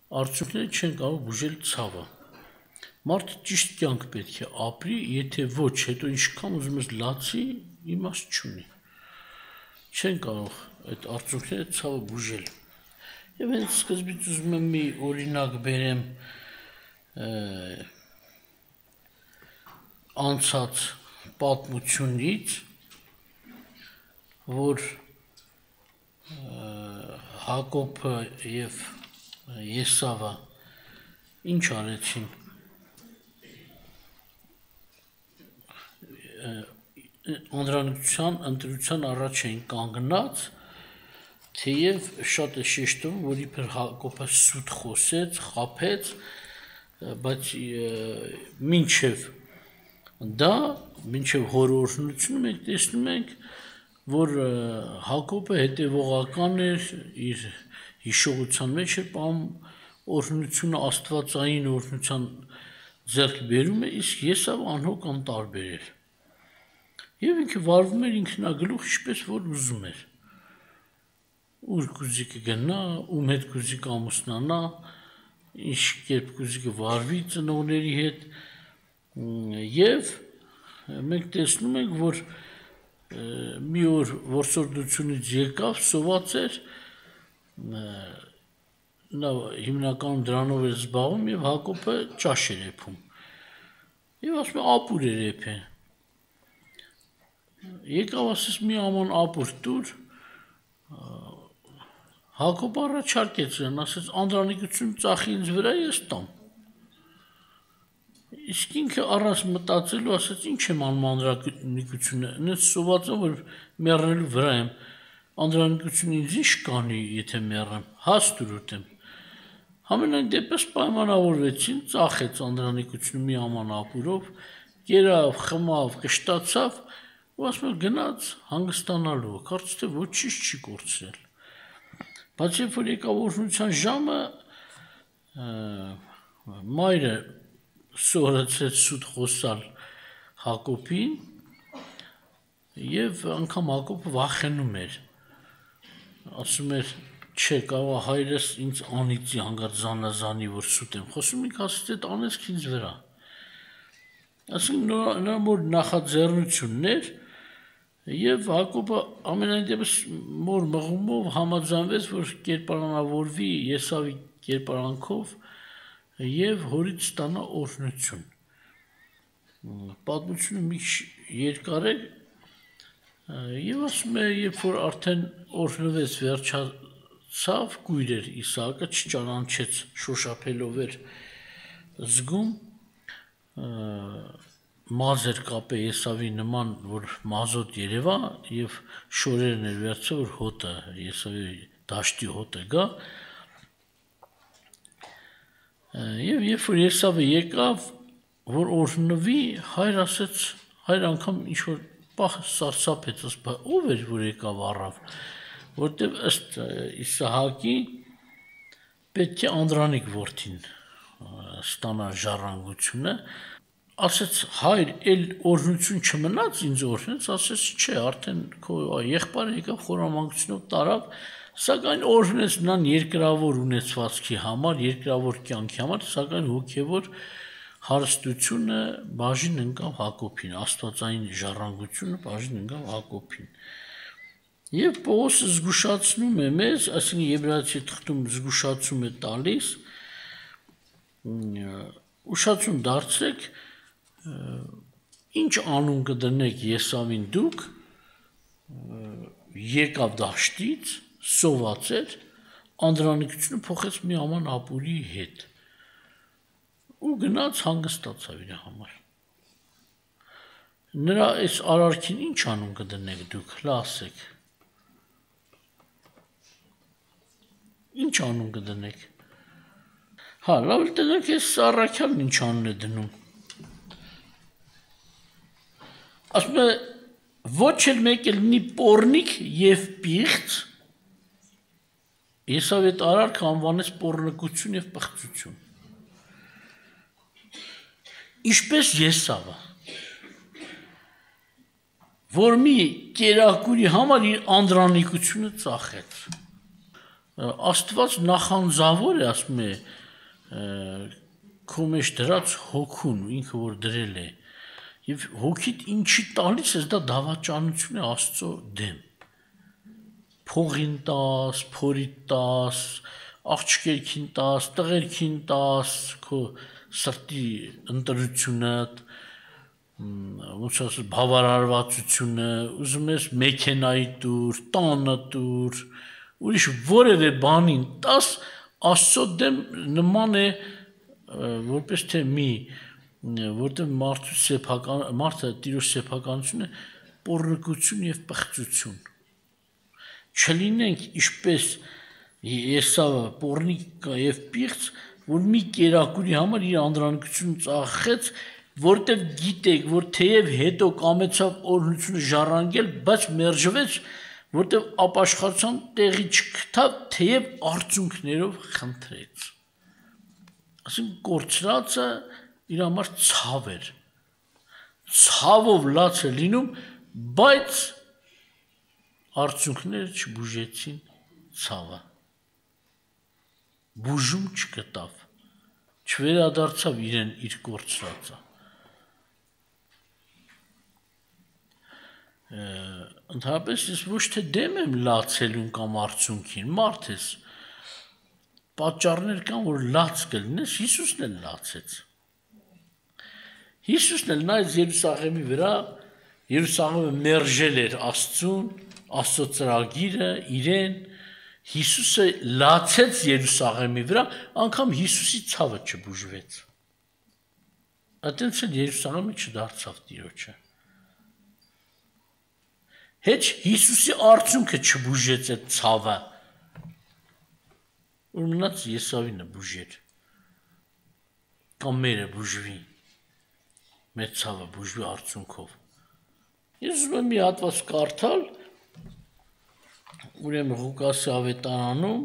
Արդյունքները չեն կարող բուժել ցավը։ Մարդը ճիշտ կյանք պետք է ապրի, եթե ոչ, հետո ինչքան ուզում ես լացի, իմաստ չունի։ Չեն կարող այդ արդյունքները ցավը բուժել։ Եվ հենց սկզբից ուզում եմ մի օրինակ բերեմ անցած պատմությունից, որ Հակոբը և Եսավը ինչ արեցին։ Անդրանիկության ընտրության առաջ էին կանգնած, թեև շատ է շեշտում, որ իբր Հակոբը սուտ խոսեց, խաբեց, բայց մինչև դա, մինչև հոր օրհնությունը մենք տեսնում ենք, որ Հակոբը հետևողական էր, իր հիշողության մեջ է պահում օրհնությունը, աստվածային օրհնության ձեռք բերում է, իսկ Եսավը անհոգ անտարբեր էր։ Եվ ինքը վարվում էր ինքնագլուխ, ինչպես որ ուզում էր։ Ուր կուզի կգնա, ում հետ կուզի կամուսնանա, ինչ կերպ կուզի կվարվի ծնողների հետ, եւ մենք տեսնում ենք, որ մի օր որսորդությունից եկավ, սոված էր, նա հիմնականում դրանով էր զբաղվում եւ Հակոբը ճաշ էր եփում։ Եվ ասում է ապուր էր եփել։ Եկավ ասես մի աման ապուր տուր, Հակոբը առաջարկեց նրան, ասեց անդրանիկություն ծախի ինձ վրա, ես տամ։ Իսկ ինքը առանց մտածելու ասեց ինչ եմ անում անդրանիկությունը, նենց սոված եմ, որ մեռնելու վրա եմ, անդրանիկությունը ինձ ինչ կանի, եթե մեռեմ, հաստ ուտեմ։ Համենայն դեպս պայմանավորվեցին, ծախեց անդրանիկությունը մի աման ապուրով, կերավ, խմավ, կշտացավ, ու ասում է գնաց հանգստանալու, կարծես թե ոչինչ չի կորցրել։ Բայց երբ որ եկավ օրհնության ժամը, մայրը սովորեցրեց սուտ խոսալ Հակոբին, եւ անգամ Հակոբը վախենում էր, ասում էր, չէ, կարող հայրս ինձ անիծի հանգարց զանազանի, որ սուտ եմ խոսում, ինքը ասեց այդ անեցք ինձ վրա։ Այսինքն նրա մոր նախաձեռնությունն էր, եւ Հակոբը ամենայն դեպս մոր մղումով համաձայնվեց, որ կերպարանավորվի Եսավի կերպարանքով եւ հորից ստանա օրհնություն։ Պատմությունը մի երկար է, եւ ասում է, երբ որ արդեն օրհնվեց, վերջացավ, կույր էր Իսահակը, չճանաչեց, շոշափելով էր զգում, մազեր կապե Եսավի նման, որ մազոտ երևա, եւ շորերն էր վերցրել, որ հոտը, Եսավի դաշտի հոտը գա, եւ երբ որ Եսավը եկավ, որ օրհնվի, հայր ասեց, հայր անգամ ինչ-որ պահ սարսափեց, ասպա, ով էր, որ եկավ առավ, որտեւ ըստ Իսահակի պետք է Անդրանիկ որդին ստանա ժառանգությունը, ասեց հայր, էլ օրհնություն չմնաց ինձ օրհնեց, ասեց չէ, արդեն քո եղբայրը եկավ խորամանկությունով տարավ, սակայն օրհնեց նրան երկրավոր ունեցվածքի համար, երկրավոր կյանքի համար, սակայն հոգևոր հարստությունը բաժին ընկավ Հակոբին, աստվածային ժառանգությունը բաժին ընկավ Հակոբին։ Եվ Պողոսը զգուշացնում է մեզ, այսինքն Եբրայեցի թղթում զգուշացում է տալիս, ուշացում դարձրեք, ինչ անուն կդնեք Եսավին դուք, եկավ դաշտից, սոված էր, անդրանիկությունը փոխեց մի աման ապուրի հետ, ու գնաց հանգստացավ իր համար։ Նրա այս արարքին ինչ անուն կդնեք դուք, լասեք։ Ինչ անուն կդնեք։ Հա, լավ տնեք ես Առաքյալն ինչ անուն է դնում։ Ասում է, ոչ էլ մեկ էլ լինի պոռնիկ եւ պիղծ, Եսավ այդ արարքը անվանեց պոռնկություն եւ պղծություն։ Ինչպես Եսավը, որ մի կերակուրի համար իր անդրանիկությունը ծախեց։ Աստված նախանձավոր է, ասում է, քո մեջ դրած հոգուն, ինքը որ դրել է, եւ հոգիդ ինչի տալիս ես, դա դավաճանություն է Աստծո դեմ։ Փողին տաս, փորիդ տաս, աղջիկերքին տաս, տղերքին տաս, քո սրտի ընտրությունդ, ոնց ասես բավարարվածությունը, ուզում ես մեքենայի տուր, տանը տուր, ուրիշ որևէ բանին տաս, Աստծո դեմ նման է, որպես թե մի, որտեղ մարդը տիրոջ սեփականությունը պոռնկություն եւ պղծություն։ Չլինենք ինչպես Եսավը պոռնիկ եւ պիղծ, որ մի կերակուրի համար իր անդրանքությունը ծախեց, որտեղ գիտեք, որ թեև հետո կամեցավ օրհնությունը ժառանգել, բայց մերժվեց, որտեղ ապաշխարության տեղի չգտավ, թեև արցունքներով խնդրեց։ Ասենք կորցրածը իր համար ցավ էր, ցավով լաց է լինում, բայց արցունքները չբուժեցին ցավը, բուժում չգտավ, չվերադարձավ իրեն իր կորցրածը։ Ընդհանրապես ես ոչ թե դեմ եմ լացելուն կամ արցունքին, մարդ ես, պատճառներ կան, որ լաց կլինես, Հիսուսն էլ լացեց։ Հիսուսն էլ նայեց Երուսաղեմի վրա, Երուսաղեմը մերժել էր Աստծուն, Աստծո ծրագիրը, իրեն, Հիսուսը լացեց Երուսաղեմի վրա, անգամ Հիսուսի ցավը չբուժվեց։ Այդտենց էլ Երուսաղեմը չդարձավ Տիրոջը։ Հեչ Հիսուսի արցունքը չբուժեց այդ ցավը, որ մնաց Եսավինը բուժեր, կամ մերը բուժվի, մեր ցավը բուժվի արցունքով։ Ես ուզում եմ մի հատված կարդալ, ուրեմն Ղուկասի ավետարանում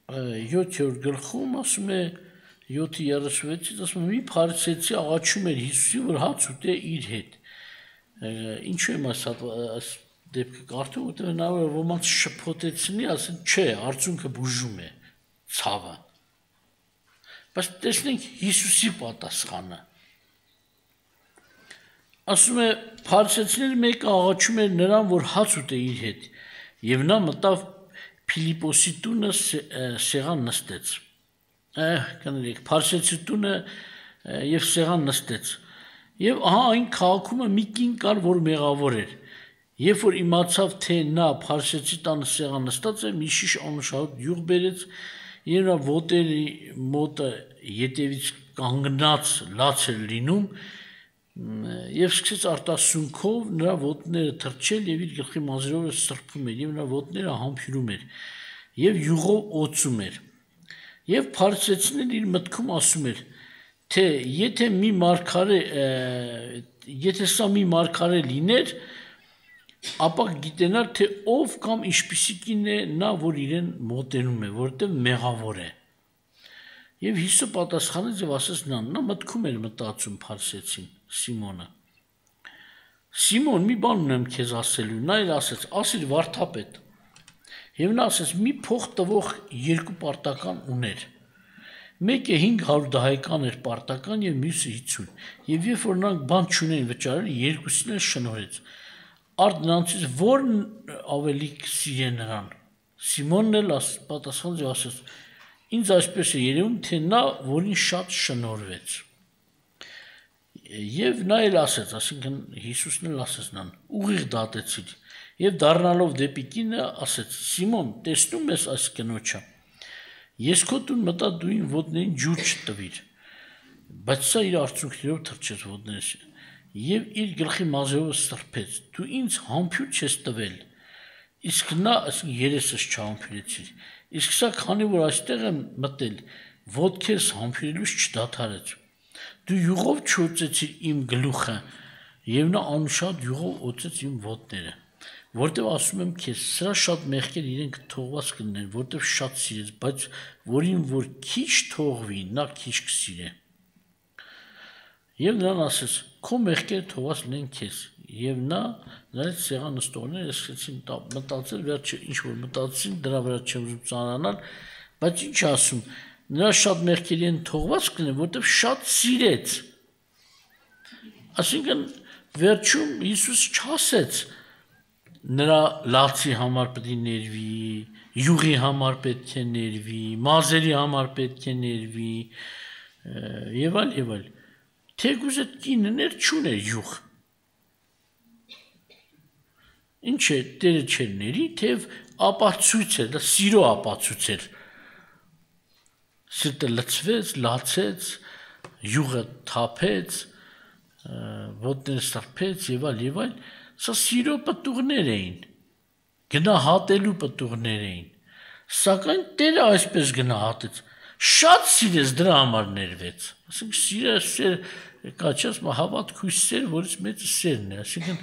7-րդ գլխում ասում է 7:36-ից ասում է մի փարիսեցի աղաչում էր Հիսուսին, որ հաց ուտե իր հետ։ Ինչու եմ այս դեպքը կարդում, որտեղ հնարավոր է ոմանց շփոթեցնի, ասեն, չէ, արցունքը բուժում է ցավը։ Բայց տեսնենք Հիսուսի պատասխանը։ Ասում է փարիսեցիների մեկը աղաչում էր նրան, որ հաց ուտե իր հետ, եւ նա մտավ Փիլիպոսի տունը սեղան նստեց։ Կներեք, փարիսեցի տունը եւ սեղան նստեց։ Եվ ահա այն քաղաքում մի կին կար, որ մեղավոր էր։ Երբ որ իմացավ, թե նա փարիսեցի տանը սեղան նստած է, մի շիշ անուշահոտ յուղ բերեց, եւ նա ոտերի մոտը ետևից կանգնած լաց էր լինում, եւ սկսեց արտասունքով նրա ոտները թրջել եւ իր գլխի մազերով սրբում էր, եւ նրա ոտները համբյուրում էր, եւ յուղով օծում էր։ Եվ փարիսեցիներն իր մտքում ասում էր, թե եթե սա մի մարգարե լիներ, ապա գիտենար, թե ով կամ ինչպիսի կին է նա, որ իրեն մոտենում է, որտեղ մեղավոր է։ Եվ Հիսուսը պատասխանեց եւ ասեց նրան, նա մտքում էր մտածում փարիսեցին Սիմոնը։ Սիմոն, մի բան ունեմ քեզ ասելու, նա էլ ասեց, ասիր վարդապետ։ Եվ նա ասեց, մի փող տվող երկու պարտական ուներ։ Մեկը 500 դահեկան էր պարտական եւ մյուսը 50։ Եվ երբ որ նրանք բան չունեին վճարել, երկուսին էլ շնորհեց։ Արդ նրանցից որն ավելի կսիրե նրան։ Սիմոնն էլ պատասխանեց եւ ասեց. Ինձ այսպես է երևում, թե նա, որին շատ շնորհվեց։ Եվ նա էլ ասեց, ասինքն Հիսուսն էլ ասեց նրան. ուղիղ դատեցիր։ Եվ դառնալով դեպի կինը ասեց. Սիմոն, տեսնում ես այս կնոջը։ Ես քո տուն մտա, դու ին ոտներին ջուր չտվիր, բայց սա իր արցունքներով թրջեց ոտներս եւ իր գլխի մազերով սրբեց, դու ինձ համբյուր չես տվել, իսկ նա երեսս չհամբյուրեցիր, իսկ սա քանի որ այստեղ եմ մտել, ոտքերս համբյուրելուց չդադարեց, դու յուղով չօծեցիր իմ գլուխը եւ նա անուշահոտ յուղով օծեց իմ ոտները, որտեւ ասում եմ քեզ, սրա շատ մեղքեր իրենք թողված կլինեն, որտեւ շատ սիրեց, բայց որին որ քիչ թողվի, նա քիչ կսիրե։ Եվ նրան ասեց. քո մեղքերը թողված լինեն քեզ, Եվ նա նրանց սեղան նստողները սկսեցին մտածել, վերջը ինչ-որ մտածեցին, դրա վրա չեմ ուզում ծանրանալ, բայց ինչ ասում, նրա շատ մեղքերի են թողված կլինի, որտեղ շատ սիրեց։ Այսինքն վերջում Հիսուս չասեց նրա լացի համար պետք է ներվի, յուղի համար պետք է ներվի, մազերի համար պետք է ներվի, եւ այլ։ Թեկուզ այդ կիններ չուներ յուղ։ Ինչ է, Տերը չէր ների, թեև ապացույց էր, դա սիրո ապացույց էր։ Սիրտը լցվեց, լացեց, յուղը թափեց, ոտները սրբեց եւ այլ, սա սիրո պտուղներ էին, գնահատելու պտուղներ էին, սակայն Տերը այսպես գնահատեց, շատ սիրեց դրա համար ներվեց, ասենք սիրը կաչած հավատք հույս սեր, որից մեծը սերն է, այսինքն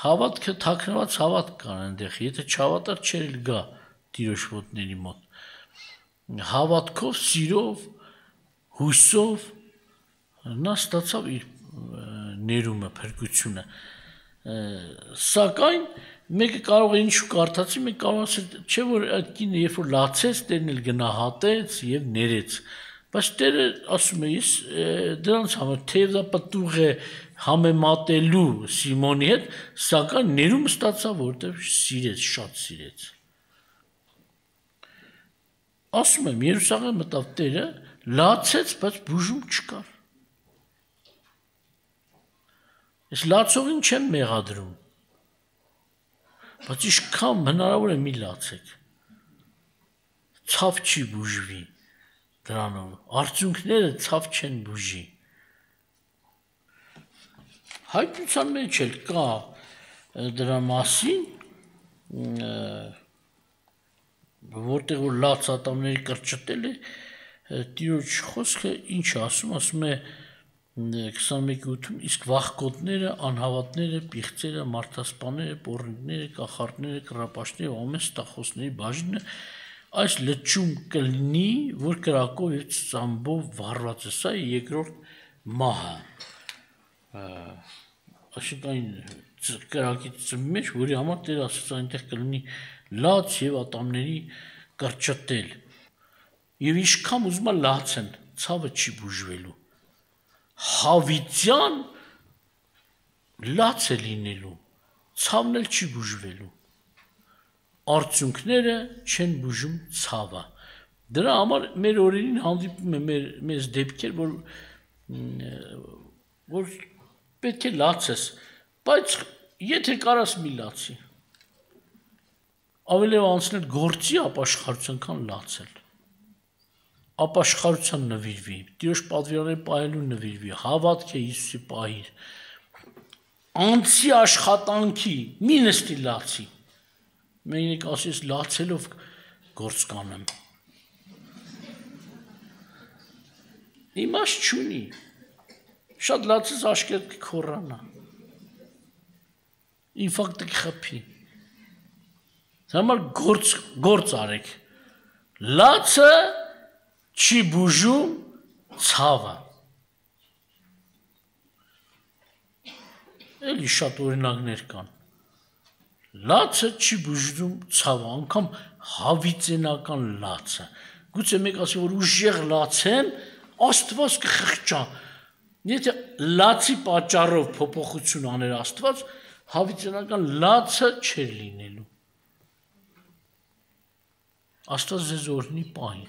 հավատքը թաքնված հավատք կան այնտեղ, եթե չհավատար չէր գա Տիրոջ ոտների մոտ, հավատքով, սիրով, հույսով նա ստացավ իր ներումը, փրկությունը, սակայն մեկը կարող է ինչ կարդացի, մեկ կարող ասել, չէ որ այդ կինը երբ որ լացեց, Տերն էլ գնահատեց եւ ներեց, բայց Տերը ասում է, ես դրանց համար թեև դա պտուղ է համեմատելու Սիմոնի հետ, սակայն ներումը ստացավ, որտեղ սիրեց, շատ սիրեց։ Ասում եմ, Երուսաղեմ մտավ Տերը, լացեց, բայց բուժում չկար։ Ես լացողին չեմ մեղադրում, բայց իշքան հնարավոր է մի լացեք, ցավ չի բուժվի դրանով, արդյունքները ցավ չեն բուժի։ Հայտնության մեջ էլ կա դրա մասին, որտեղ որ լաց ատամների կրճտել է, Տիրոջ խոսքը ինչ ասում է 21-ում, իսկ վախկոտները, անհավատները, պիղծերը, մարդասպաները, պոռնիկները, կախարդները, կռապաշտները, ամեն ստախոսների բաժինը այս լճում կլինի, որ կրակով եւ ծամբով վառված է, սա երկրորդ մահը։ Այսինքն կրակի ծմի մեջ, որի համար Տերը ասաց այնտեղ կլինի լաց եւ ատամների կրճտել։ Եվ իշքան ուզում է լացեն, ցավը չի բուժվելու։ Հավիտյան լաց է լինելու, ցավն էլ չի բուժվելու, արդյունքները չեն բուժում ցավը, դրա համար մեր օրերին հանդիպում է մեզ դեպքեր, որ պետք է լացես, բայց եթե կարաս մի լացի, ավելի անցնել գործի ապաշխարության, քան լացել, ապաշխարության նվիրվի, Տիրոջ պատվիրանները պահելու նվիրվի, հավատք է Հիսուսի պահիր, անցի աշխատանքի, մի նստի լացի, մենակ ասես լացելով գործ կանեմ, իմաստ չունի, շատ լացես աշկերտ կքոռանա, ինֆարկտ կխփի, համար գործ արեք, լացը չի բուժում ցավը, էլի շատ օրինակներ կան, լացը չի բուժում ցավը, անգամ հավիտենական լացը, գուցե մեկ ասի, որ ուժեղ լացեն, Աստված կխղճա, եթե լացի պատճառով փոփոխություն աներ Աստված, հավիտենական լացը չէր լինելու, Աստված ձեզ օրհնի պահի,